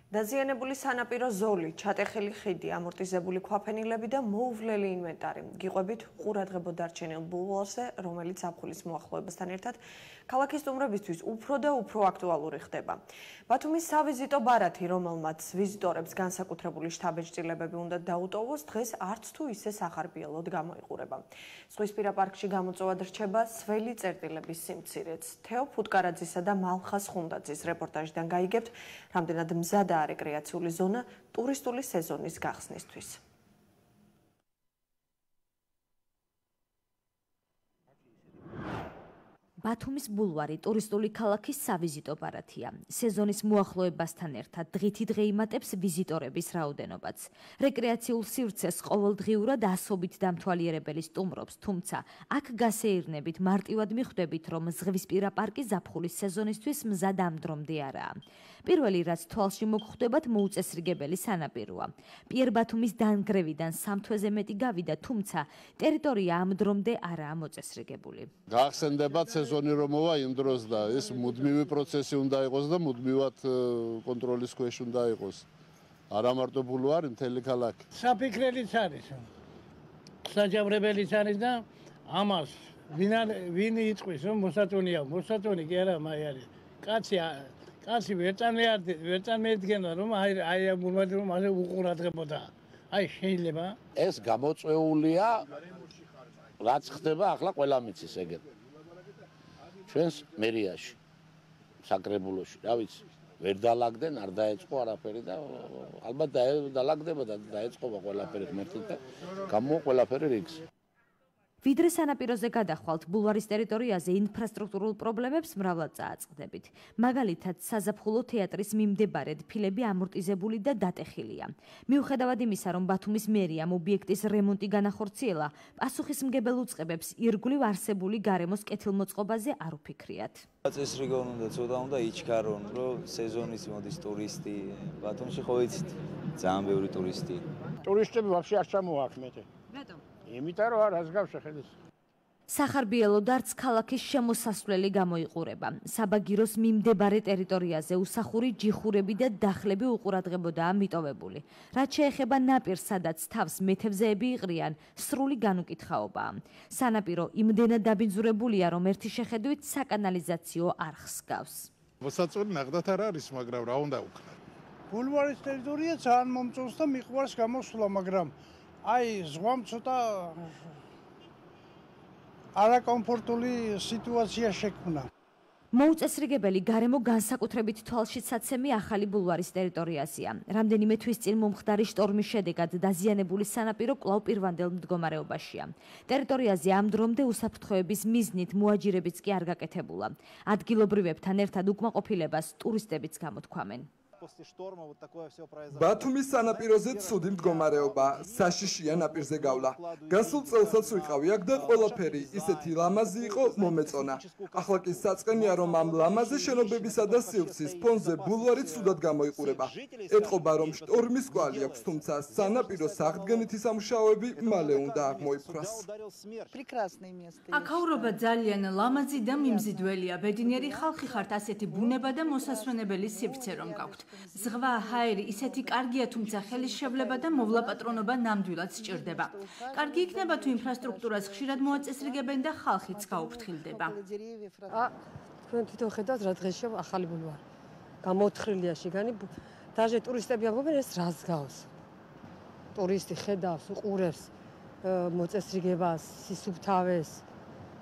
დაზიანებული სანაპირო ზოლი, ჩატეხილი ხიდი, ამორტიზებული ქვაფენილები და მოუვლელი ინვენტარი. გიყვებით ყურადღებო დარჩენილ ბულვარზე, რომელიც ზაფხულის მოახლოებასთან ერთად ქალაქის სტუმრებისთვის უფრო და უფრო აქტუალური ხდება. ბათუმის სავიზიტო ბარათი, რომელმაც ვიზიტორებს განსაკუთრებული შთაბეჭდილებები უნდა დაუტოვოს, დღეს არც თუ ისე სახარბიელოდ გამოიყურება. ზღვისპირა პარკში გამოწვევად რჩება სველი წერტილების სიმცირეც. თეო ფუტკარაძისა და მალხას ხუნდაძის რეპორტაჟიდან გაიგებთ, რამდენად მზადა რეკრეაციული ზონა ტურისტული სეზონის გახსნისთვის. ბათუმის ბულვარი ტურისტული ქალაქის სავიზიტო ბარათია. სეზონის მოახლოებასთან ერთად დღითი დღე იმატებს ვიზიტორების რაოდენობაც. რეკრეაციულ სივრცეს ყოველდღიურად ასობით დამთვალიერებელი სტუმრობს, თუმცა აქ გასეირნებით მარტივად მიხვდებით, რომ ზღვისპირა პარკი ზაფხულის სეზონისთვის მზად ამ დრომდე არაა. პირველი, რაც თვალში მოგხვდებათ, მოუწესრიგებელი სანაპიროა. პიერ ბათუმის დანგრევიდან 3 თვეზე მეტი გავიდა, თუმცა ტერიტორია ამ დრომდე არაა მოწესრიგებული. გახსენდებათ სეზონი რომ მოვა იმ დროს და ეს მუდმივი პროცესი უნდა იყოს და მუდმივად კონტროლის ქვეშ უნდა იყოს. არა მარტო ბულვარი, მთელი ქალაქი. საფიქრებელიც არის. საჯავრებელიც არის და ამას ვინ იწვის რომ მოსაწონია, მოსაწონი კი არა, მაი არის. კაცი ვერწან მედგენა რომ აი ბულვარი რომ ასე უყურადღებოდა. აი შეიძლება ეს გამოწვეულია რაც ხდება ახლა ყველა მიცის ეგეთ. ჩვენს მერიაში, საკრებულოში, რა ვიცი, ვერ დალაგდნენ, არ დაეწყო არაფერი და ალბათ დალაგდება და დაეწყობა ყველაფერი ღმერთით და გამოვა ყველაფერი რიგს. ვიდრე სანაპიროზე გადახვალთ, ბულვარის ტერიტორიაზე ინფრასტრუქტურულ პრობლემებს მრავლად წააწყდებით. მაგალითად, საზაფხულო თეატრის მიმდებარედ ფილები ამორტიზებული და დატეხილია. მიუხედავად იმისა, რომ ბათუმის მერიამ ობიექტის რემონტი განახორციელა, პასუხისმგებელ უწყებებს ირგვლივ არსებული გარემოს კეთილმოწყობაზე არ უფიქრიათ. წესრიგონ უნდა ცოტა უნდა იჩქარონ, რომ სეზონის მოდის ტურისტი. ბათუმში ხო იცით, ძალიან ბევრი ტურისტი. ტურისტები ვაფშე არ ჩამოაქმედე. რატომ? იმიტომ რომ არას გავშეხედეს. სახარბიელოდ არც ქალაქის შემოსასვლელი გამოიყურება. საბაგიროს მიმდებარე ტერიტორიაზე უსახური ჯიხურები და დახლები უყურადღებოდაა მიტოვებული. რაც შეეხება ნაპირს, სადაც თავს მეთევზეები იყრიან, სრული განუკითხაობაა. სანაპირო იმდენად დაბინძურებულია, რომ ერთი შეხედვით საკანალიზაციო არხს გავს. მოსაწონი ნახდათ არ არის, მაგრამ რა უნდა ვქნა. ბულვარის ტერიტორია ძალიან მომწონს და მიყვარს გამოსვლა, მაგრამ აი ზღვამ ცოტა არაკომფორტული სიტუაცია შექმნა. მოუწესრიგებელი გარემო განსაკუთრებით თვალშისაცემი ახალი ბულვარის ტერიტორიაზეა. რამდენიმე თვის წინ მომხდარი შტორმის შედეგად დაზიანებული სანაპირო კვლავ პირვანდელ მდგომარეობაშია. ტერიტორიაზე ამ დრომდე უსაფრთხოების მიზნით მოაჯირებიც კი არ გაკეთებულა. ადგილობრივებთან ერთად უკმაყოფილებას ტურისტებიც გამოთქვამენ. ბათუმის სანაპიროზე ცუდი მდგომარეობა, საშიშია ნაპირზე გავლა. გასულ წელსაც ვიყავი აქ და ყველაფერი ისეთი ლამაზი იყო, მომეწონა. ახლა კი საწყენია, რომ ამ ლამაზი შენობებისა და სივრცის ფონზე ბულვარი ცუდად გამოიყურება. ეტყობა, რომ შტორმის კვალი აქვს, თუმცა სანაპიროს აღდგენითი სამუშაოები მალე უნდა აღმოიფხვრას. აქაურობა ძალიან ლამაზი და მიმზიდველია. ბედნიერი ხალხი ხართ, ასეთი ბუნება და მოსასვენებელი სივრცე რომ გაქვთ. ზღვა, ჰაერი ისეთი კარგია, თუმცა ხელისშევლება და მოვლაპატრონობა ნამდვილად სჭირდება. კარგი იქნება თუ ინფრასტრუქტურას ხშირად მოაწესრიგებენ და ხალხიც გაუფრთხილდება. თქვენ თვითონ ხედავთ რა დღეშია ახალი ბულვარი. გამოთხრილია შიგანი, დაჟე ტურისტები ამბობენ ეს რას გავს. ტურისტი ხედავს, უყურებს მოწესრიგებას, სისუფთავეს,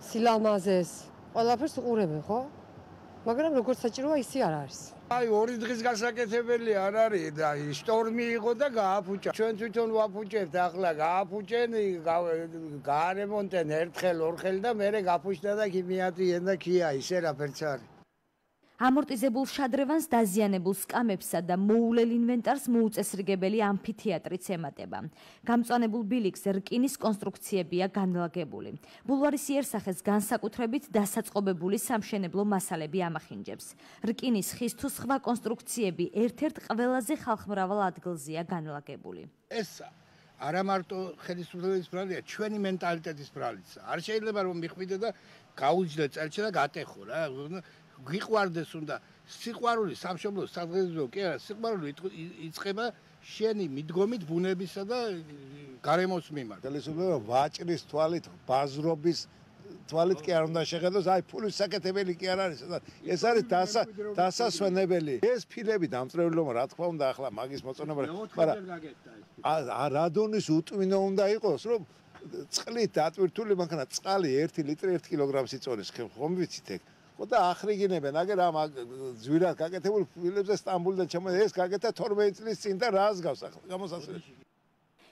სილამაზეს, ყველაფერს უყურებენ, ხო? მაგრამ როგორც საჭიროა ისე არ არის. აი 2 დღის გასაკეთებელი არ არის და შტორმი იყო და გააფუჭა. ჩვენ თვითონ ვაფუჭებთ, ახლა გააფუჭენ, გაარემონტენ ერთხელ, ორხელ და მერე გაფუჭდა და კი მიადრიენ და კია ისე რაფერც არის. ამორტიზებულ შადრევანს, დაზიანებულ სკამებსა და მოულელ ინვენტარს მოუწესრიგებელი ამფითეატრიც ემატება. გამწვანებულ ბილიქს რკინის კონსტრუქციებია განლაგებული. ბულვარის იერსახეს განსაკუთრებით დასაწყობებული სამშენებლო მასალები ამახინჯებს. რკინის, ხის თუ სხვა კონსტრუქციები ერთ-ერთ ყველაზე ხალხმრავალ ადგილზეა განლაგებული. ეს არა მარტო ხელისუფლების ბრალია, ჩვენი მენტალიტეტის ბრალიც. არ შეიძლება რომ მიხვიდე და გაუჯდე წელში და გატეხო რა. გიყვარდეს უნდა სიყვარული სამშობლოს სადღეღო კი არა, სიყვარული იწყება შენი მიდგომით ბუნებისა და გარემოს მიმართ. ხელისუფლება ვაჭრის თვალით, ბაზრობის თვალით კი არ უნდა შეხედოს, აი ფულის საკეთებელი კი არ არის. ეს არის დასასვენებელი. ეს ფილები დამწრევლობა რა თქმა უნდა ახლა მაგის მოწონება, მაგრამ რადონის უტვინო უნდა იყოს, რომ წყლით დატვირთული მანქანა წყალი 1 ლიტრი 1 კილოგრამს იწონის, ხომ ვიცით ეგ? ხო და ახრიგინებენ, აგერ ამ ძვირად გაკეთებულ ფილებზე სტამბულიდან ჩამოდი, ეს გაკეთა 12 წლის წინ და რას გავს ახლა გამოსასვლელში.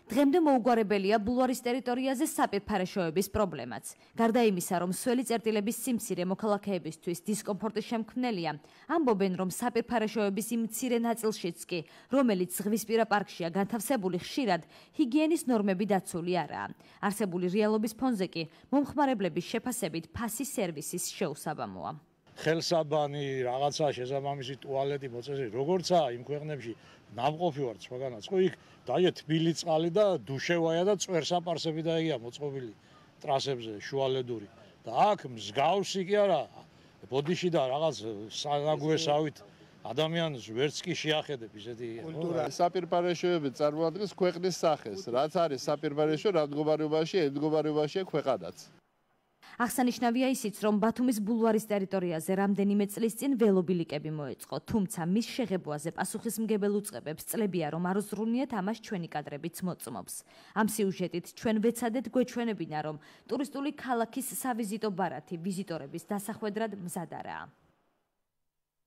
დღემდე მოუგვარებელია ბულვარის ტერიტორიაზე საპირფარეშოების პრობლემაც. გარდა იმისა, რომ სველი წერტილების სიმცირე მოქალაქეებისთვის დისკომფორტის შემქმნელია, ამბობენ, რომ საპირფარეშოების იმ მცირე ნაწილშიც კი, რომელიც ზღვისპირა პარკშია განთავსებული, ხშირად ჰიგიენის ნორმები დაცული არაა. არსებული რეალობის ფონზე კი მომხმარებლების შეფასებით ფასი სერვისის შეუსაბამოა. ხელსაბანი, რაღაცა შესაბამისი ტუალეტი მოწესრიგე, როგორცაა იმ ქვეყნებში ნამყოფი ვარ სხვაგანაც, ხო იქ დაიე თბილი წყალი და დუშევაია და წვერსაპარსები დაიგია მოწყობილი ტრასებზე შუალედური და აქ მსგავსი კი არა ბოდიში და რაღაც საგუესავით ადამიანს ვერც კი შეახედებ ისეთი საპირფარეშოები წარმოადგენს ქვეყნის სახეს, რაც არის საპირფარეშო რა მდგომარეობაშია ქვეყანაც. აღსანიშნავია ისიც, რომ ბათუმის ბულვარის ტერიტორიაზე რამდენიმე წლის წინ ველობილიკები მოეწყო, თუმცა მის შეღებვაზე პასუხისმგებელ უწყებებს წლებია, რომ არ უზრუნიათ ამას ჩვენი კადრებიც მოწმობს. ამ სიუჟეტით ჩვენ ვეცადეთ გვეჩვენებინა, რომ ტურისტული ქალაქის სავიზიტო ბარათი ვიზიტორების დასახვედრად მზად არაა.